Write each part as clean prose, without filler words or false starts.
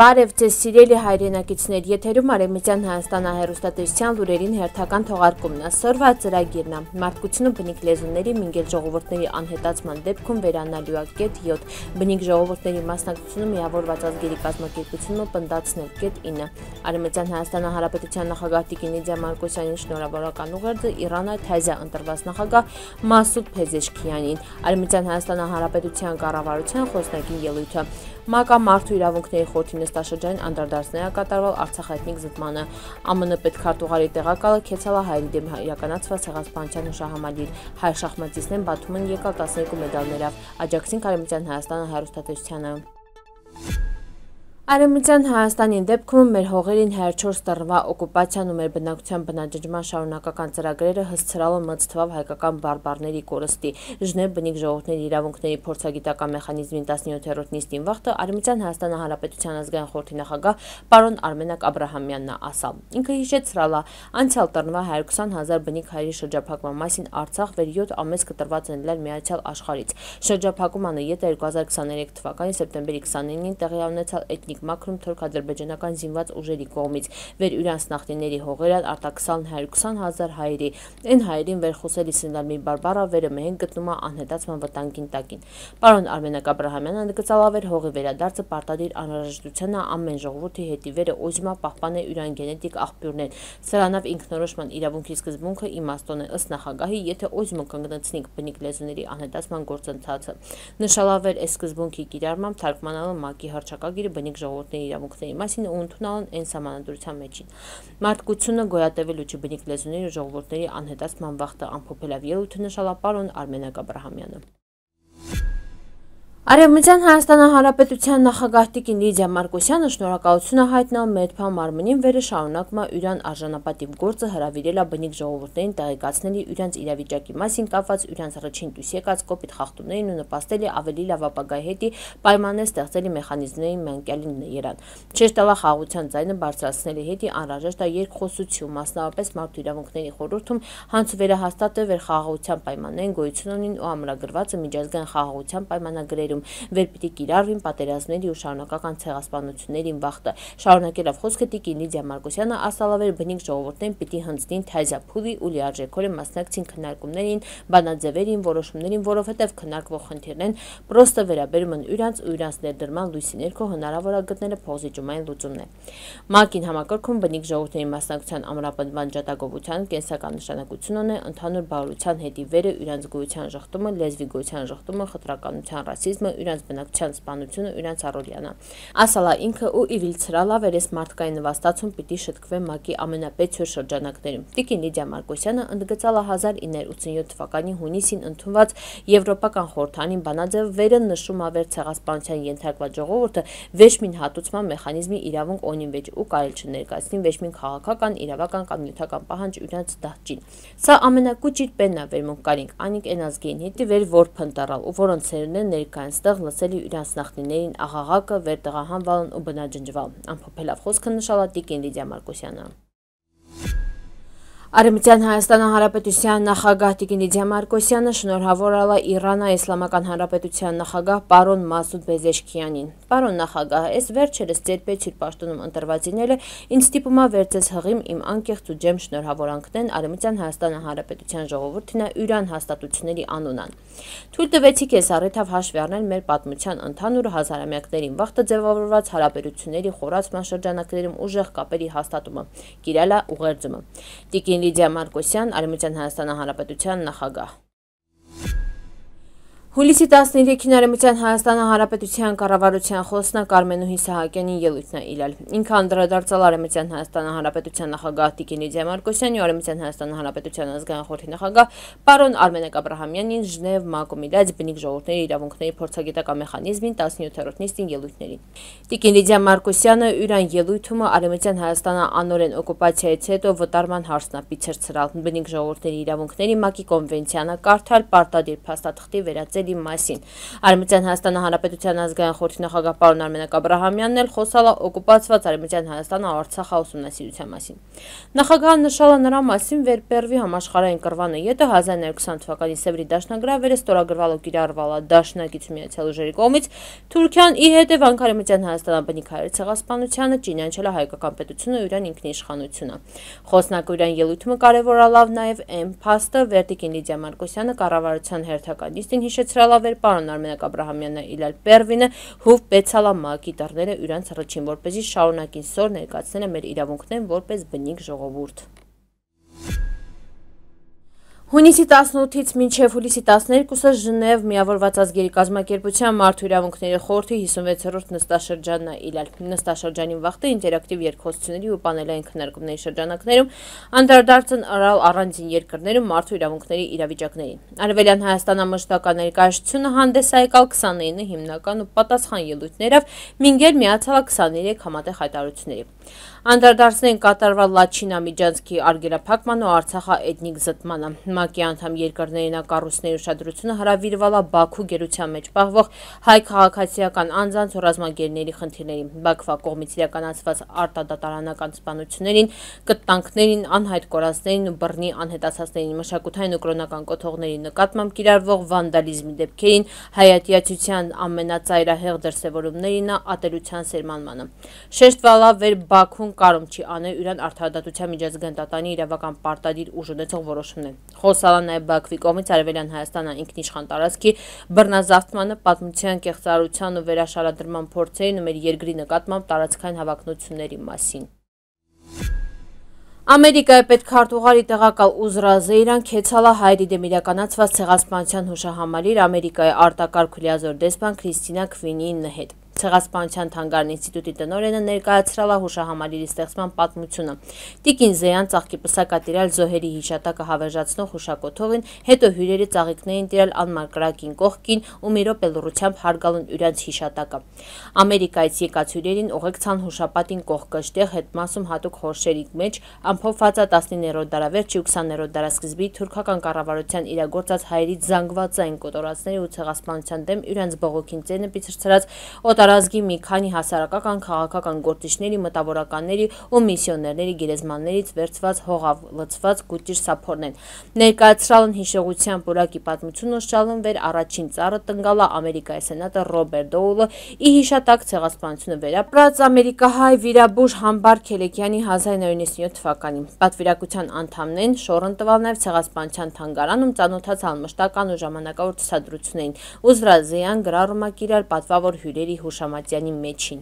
Բարև ձեզ սիրելի հայրենակիցներ, եթերում Արևմտյան Հայաստանը հեռուստատեսության լուրերին հերթական թողարկումն է։ Սրվա ծրագիրն է։ Մարդկությունը բնիկ լեզուների մինգել ժողովուրդների անհետացման դեպքում վերանալու է (7) բնիկ ժողովուրդների մասնակցությունը միավորված ազգերի կազմակերպությունը պնդացնել (9) Արևմտյան Հայաստանը Հանրապետության նախագահ Տիկին Լիդիա Մարկոսյանին շնորհավորական ուղերձը Իռանա Թազիա ընտրված նախագահ Մասուդ Փեզեշքիանին, Արևմտյան Հայաստանը Հանրապետության կառավարության խոսնակին ելույթը։ ՄԱԿ-ը մարդու իրավունքների խորհրդի նստաշրջանին անդրադարձներ է կատարվել Արցախ էթնիկ զտմանը։ ԱՄՆ պետքարտուղարի տեղակալը Քեցալա Հայերի դեմ իրականացված ցեղասպանության հուշահամալիր հայ շախմատիստներն Բաթումին եկալ 12 մեդալներով, աջակցին Արևմտյան Հայաստանը հեռուստատեսությանը։ Արևմտյան Հայաստանի դեպքում մեր հողերին 104 տարվա օկուպացիան ու մեր բնակության բնաջնջման շարունակական ծրագրերը հսցրալը մտցվավ հայկական բարբարների կորստի։ Ժնև բնիկ ժողովուրդների իրավունքների փորձագիտական մեխանիզմի 17-րդ նիստին վաղտը Արևմտյան Հայաստանի Հանրապետության ազգային խորհրդի նախագահ պարոն Արմենակ Աբրահամյանն է ասալ։ Ինքը հիշեցրալ է անցյալ տարվա 120,000 բնիկ հայերի շրջափակման մասին Արցախ վեր 7 ամես կտրված են լար Միացյալ Աշխարհից։ Շրջափակումը յետը 2023 թվականի սեպտեմբերի 29-ին տեղի ունեցավ էթնիկ մաքրում թուրք-ադրբեջանական զինված ուժերի կողմից վեր իրանց նախնիների հողերան արտաքսան 120,000 հայերի այն հայերին վերխոսելի սննդարմի բարբառը վերը մեն գտնում է անհետացման վտանգին տակին։ Պարոն Արմենակ Աբրահամյանը ընդգծալավեր հողի վերադարձը պարտադիր անհրաժեշտության է ամեն ժողովրդի հետի վերը օժմա պահպանել իրան գենետիկ աղբյուրներ։ Սրանով ինքնորոշման իրավունքի սկզբունքը իմաստուն է ըստ նախագահի, եթե օժմը կանգնեցնենք բնիկ լեզուների անհետացման գործընթացը։ Նշալավեր այս սկզբունքի կիրառմամբ թարգմանալը ՄԱԿ-ի հռչակագիրը բնիկ ժողովուրդների իրավունքների մասին ու ընդունալն այն սահմանադրության մեջին։ Մարդկությունը գոյատևելու չի բնիկ լեզուների ու ժողովուրդների անհետացման վախտը ամփոփելով ելույթը նշալա պարոն Արմենակ Աբրահամյանը։ Արևմտյան Հայաստանի Հանրապետության նախագահ Տիկին Լիդիա Մարկոսյանը շնորհակալություն է հայտնել Մեդփա մարմնին վերը շարունակում է իրան արժանապատիվ գործը հրավիրել է բնիկ ժողովուրդներին տեղեկացնել իրանց իրավիճակի մասին կապված իրանց առաջին դուրս եկած կոպիտ խախտումներին ու նպաստել է ավելի լավ ապագայի հետի պայմաններ ստեղծելի մեխանիզմների մանկյալին երան։ Չեշտալա խաղաղության ձայնը բարձրացնելի հետի անհրաժեշտ է երկխոսություն, մասնավորապես մարդու իրավունքների խորհրդում հանցվերահաստատը վեր խաղաղության պայմաններին գոյություն ունին ու ամրագրված միջազգային խաղաղության պայմանագրերում վեր պիտի կիրառվին պատերազմների ու շարունակական ցեղասպանություններին վախտը։ Շարունակելով խոսքը Տիկին Լիդիա Մարկոսյանը ասալավեր բնիկ ժողովուրդներին պիտի հնձնին Թազիա փուլի ու լիարժեքորեն մասնակցին քննարկումներին, բանաձևերին, որոշումներին, որովհետև քննարկվող խնդիրներն պրոստը վերաբերում են իրանց ու իրանց ներդրման լույսի ներքո հնարավոր է գտնել փոխզիջումային լուծումներ։ ՄԱԿ-ին համակարգում բնիկ ժողովուրդների մասնակցության ամրապնդման ջատագովության կենսական նշանակություն ունի ընդհանուր բարության հետի վերը իրանց գոյության ժխտումը, լեզվի գոյության ժխտումը, խտրականության, ռասիզմը, իրանց բնակության սպանությունը, իրանց առօրյանը։ Ասալա ինքը ու իվիլցրալա վերես մարդկային նվաստացում պիտի շտկվե ՄԱԿ-ի ամենապետ շրջանակներում։ Տիկին Լիդիա Մարկոսյանը ընդգծալա 1987 թվականի հունիսին ընդունված Եվրոպական խորհրդանի բանաձև վերը նշում ավեր ցեղասպանության ենթարկված ժողովուրդը վեճմին հատուցման մեխանիզմի իրավունք ունի վեճ ու կարել չներկայացնի վեճմին քաղաքական, իրավական կամ նյութական պահանջ իրանց դահճին։ Սա ամենակուճիտ պենն է վերմունք կարինք անիկ են ազգային հետի վեր որ փնտարալ ու որոնց սերունդներն ներկայնստեղ լսելի իրանց նախնիներին աղաղակը վեր տեղահանվալն ու բնաջնջվալ, ամփոփելով խոսքը նշալա Տիկին Լիդիա Մարկոսյանը։ Արևմտյան Հայաստանի Հանրապետության նախագահ Տիկին Լիդիա Մարկոսյանը շնորհավորել է Իռանա Իսլամական Հանրապետության նախագահ պարոն Մասուդ Փեզեշքիանին։ Պարոն նախագահ, այս վերջերս ձեր պետք պաշտոնում ընտրվածիները ինձ ստիպում է վերցես հղիմ իմ անկեղծ ու ջեմ շնորհավորանքներն Արևմտյան Հայաստանի Հանրապետության ժողովրդին յուրան հաստատությունների անունան։ Թույլ տվեցիք ես առիթավ հաշվի առնել մեր պատմության ընդհանուր հազարամյակներին վաղտը ձևավորված հարաբերությունների խորացման շրջանակներում ուժեղ կապերի հաստատումը, կիրալա ուղերձումը։ Տիկին Լիդիա Մարկոսյան, Արևմտյան Հայաստանի Հանրապետության նախագահ։ Հուլիսի 13-ին Արևմտյան Հայաստանի Հանրապետության կառավարության խոսնակ Արմենուհի Սահակյանին ելույթն է իրել։ Ինքը անդրադարձել Արևմտյան Հայաստանի Հանրապետության նախագահ Տիկին Լիդիա Մարկոսյանին ու Արևմտյան Հայաստանի Հանրապետության ազգային խորհրդի նախագահ պարոն Արմենակ Աբրահամյանին Ժնև ՄԱԿ-ում իրաց բնիկ ժողովուրդների իրավունքների փորձագիտական մեխանիզմին 17-րդ նիստին ելույթներին։ Տիկին Լիդիա Մարկոսյանը յուրան ելույթումը Արևմտյան Հայաստանը անօրեն օկուպացիայից հետո վտարման հարցն է ցրցրալ բնիկ ժողովուրդների իրավունքների ՄԱԿ-ի կոնվենցիանը կարդալ պարտադիր փաստաթղթի վերածել իրավունքների մասին։ Արևմտյան Հայաստանի Հանրապետության ազգային խորհրդի նախագահ պարոն Արմենակ Աբրահամյանն էլ խոսալ է օկուպացված Արևմտյան Հայաստանը Արցախը ուսումնասիրության մասին։ Նախագահը նշել է նրա մասին, որ Պերվի համաշխարհային կռվանը ետը 1920 թվականի Սևրի դաշնագրավերը ստորագրվալ ու կիրառվալ Դաշնակցություն Միացյալ Ուժերի կողմից Թուրքիան ի հետևանք Արևմտյան Հայաստանի բնիկայերի ցեղասպանությանը ճանաչել է հայկական պետությունը ու իրան ինքնիշխանությունը։ Խոսնակը իրան ելույթը կարևորալավ նաև այն փաստը, Վերտիկին Լիդիա Մարկոսյանը կառավարության հերթական նիստին հիշեցրել է, որ պարոն Արմենակ Աբրահամյանն իլալ Պերվինը հուվ բեցալա մակի դռները իրանց ռճին, որպեսզի շարունակին սոր ներկայացնել մեր իրավունքներն որպես բնիկ ժողովուրդ։ Հունիսի 18-ից մինչև հուլիսի 12-ը Ժնև միավորված ազգերի կազմակերպության մարդու իրավունքների խորհրդի 56-րդ նստաշրջանն է իլալ։ Նստաշրջանին վաղտը ինտերակտիվ երկխոսությունների ու պանելային քննարկումների շրջանակներում անդրադարձն արալ առանձին երկրներում մարդու իրավունքների իրավիճակներին։ Արևելյան Հայաստանը մշտական ներկայացությունը հանդես է եկալ 29 հիմնական ու պատասխան ելույթներով, մինչև միացյալ 23 համատեղ հայտարարությունների։ Անդրադարձներն կատարվել Լաչինա Միջանցքի արգելափակման ու Արցախա էթնիկ զտմանը։ ՄԱԿ-ի անդամ երկրներին կառույցների ուշադրությունը հրավիրվել է Բաքու գերության մեջ պահվող հայ քաղաքացիական անձանց ու ռազմագերիների խնդիրներին, Բաքվա կողմից իրականացված արտադատարանական սպանություններին, կտանքներին, անհայտ կորածներին ու բռնի անհետացածներին, մշակութային ու կրոնական կոթողների նկատմամբ կիրառվող վանդալիզմի դեպքերին, հայատյացության ամենածայրահեղ դրսևորումներին, ատելության սերմանմանը։ Շեշտվել է, որ Բաքուն կարում չի անել իրան արդարադատության միջազգային դատարանի իրավական պարտադիր ուժ ունեցող որոշումներ։ Խոսալ է նաև Բաքվի կողմից Արևելյան Հայաստանը ինքնիշխան տարածքի բռնազավթմանը, պատմության կեղծարարության ու վերաշարադրման փորձերին ու մեր երկրի նկատմամբ տարածքային հավակնությունների մասին։ Ամերիկայի պետքարտուղարի տեղակալ Ուզրա Զեյրան քեցալ է հայերի դեմ իրականացված ցեղասպանության հուշահամալիր Ամերիկայի արտակարգ ու լիազոր դեսպան Քրիստինա Քվինիի հետ։ Ցեղասպանության թանգարան ինստիտուտի տնօրենը ներկայացրել է հուշահամալիրի ստեղծման պատմությունը։ Տիկին Զեյան ծաղկիպսակ է տիրալ զոհերի հիշատակը հավերժացնող հուշակոթողին, հետո հյուրերի ծաղիկներին տիրալ անմար կրակին կողքին ու մի րոպե լռությամբ հարգալուն իրենց հիշատակը։ Ամերիկայից եկած հյուրերին ուղեկցան հուշապատին կողքըստեղ հետմասում հատուկ խորշերի մեջ ամփոփված է 19-րդ դարավերջի ու 20-րդ դարասկզբի թուրքական կառավարության իրագործած հայերի զանգվածային կոտորածների ու ցեղասպանության դեմ իրենց բողոքին ծենը պիցրցրած օտարազգի մի քանի հասարակական քաղաքական գործիչների, մտավորականների ու միսիոներների գերեզմաններից վերցված հողավ լցված գուտիր սափորներ։ Ներկայացրալ են հիշողության պուրակի պատմությունը շալուն վեր առաջին ծառը տնգալա Ամերիկայի սենատը Ռոբերտ Դոուլը ի հիշատակ ցեղասպանությունը վերապրած ամերիկահայ վիրաբույժ Համբար Քելեկյանի 1997 թվականին։ Պատվիրակության անդամներն շորն տվալ նաև ցեղասպանության թանգարանում ծանոթացան մշտական ու ժամանակավոր ցուցադրություններին։ Ուզրա Զեյան գրառում է կիրառ պատվավոր հյուրերի հուշամատյանի մեջին։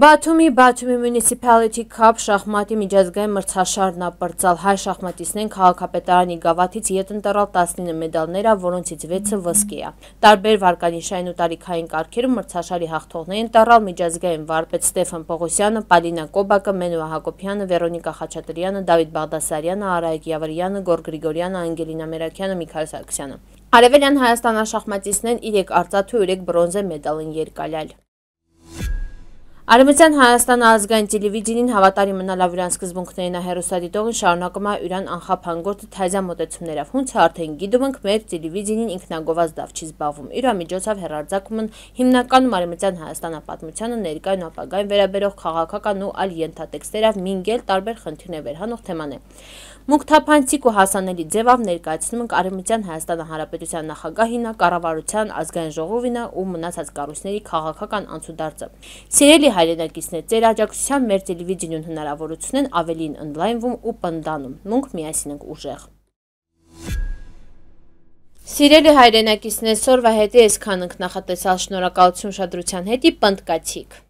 Բաթումի Municipality Cup շախմատի միջազգային մրցաշարն ապրծալ հայ շախմատիստներն քաղաքապետարանի գավաթից ետ ընտրալ 19 մեդալներ, որոնցից 6-ը ոսկե է։ Տարբեր վարկանիշային ու տարիքային կարգերում մրցաշարի հաղթողներին ընտրալ միջազգային վարպետ Ստեֆան Պողոսյանը, Պալինա Կոբակը, Մենուա Հակոբյանը, Վերոնիկա Խաչատրյանը, Դավիթ Բաղդասարյանը, Արայիկ Յավրյանը, Գոր Գրիգորյանը, Անգելինա Մերաքյանը, Միքայել Սարգսյանը։ Արևելյան Հայաստան շախմատիստներն 3 արծաթ ու 3 բրոնզե մեդալ են երկալյալ։ Արևմտյան Հայաստանը ազգային տելևիզիոնին հավատարիմ մնալով իրան սկզբունքներին հեռուստադիտողին շարունակում է իրան անխափան թազյա մոտեցումներով։ Հունց արդեն գիտում ենք մեր տելևիզիոնին ինքնագովազդ դավ չի զբաղվում։ Իր միջոցով հեռարձակում են հիմնականում Արևմտյան Հայաստանի պատմությանը ներկայուն ապագային վերաբերող քաղաքական ու այլ ենթատեքստերով մինգել տարբեր խնդիրներ վերհանող թեմաներ։ Մուգ թափանցիկ ու հասանելի ձևով ներկայացնում ենք Արևմտյան Հայաստանի Հանրապետության նախագահին, կառավարության, ազգային ժողովին ու մնացած կառույցների քաղաքական անցուդարձը։ Սիրելի հայրենակիցներ, ձեր աջակցության մեր տելևիզիոն հնարավորությունն ավելին ընդլայնվում ու պնդանում։ Մենք միասին ենք ուժեղ։ Սիրելի հայրենակիցներ, սորվա հետի այսքան ենք նախատեսալ, շնորհակալություն ուշադրության հետի պնդկացիք։